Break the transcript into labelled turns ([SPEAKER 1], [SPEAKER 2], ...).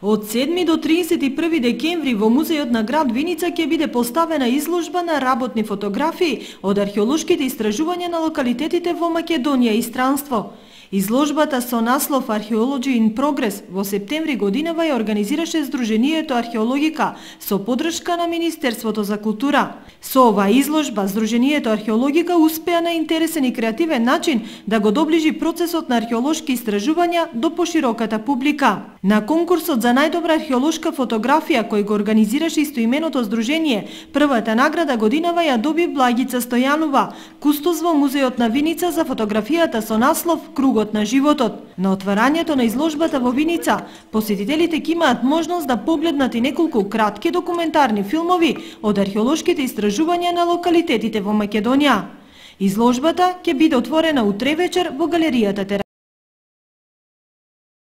[SPEAKER 1] Од 7 до 31 декември во музејот на град Виница ќе биде поставена изложба на работни фотографии од археолошките истражувања на локалитетите во Македонија и странство. Изложбата со наслов Archaeology in Progress во септември годинава ја организираше Сдруженијето Археологика со поддршка на Министерството за култура. Со оваа изложба Сдруженијето Археологика успеа на интересен и креативен начин да го доближи процесот на археолошки истражувања до пошироката публика. На конкурсот за најдобра археолошка фотографија кој го организираше истоименото здружение, првата награда годинава ја доби Благица Стојанова, кустос во музејот на Виница за фотографијата со наслов Кругот на животот. На отварањето на изложбата во Виница, посетителите ќе имаат можност да погледнат и неколку кратки документарни филмови од археолошките истражувања на локалитетите во Македонија. Изложбата ќе биде отворена утре вечер во галеријата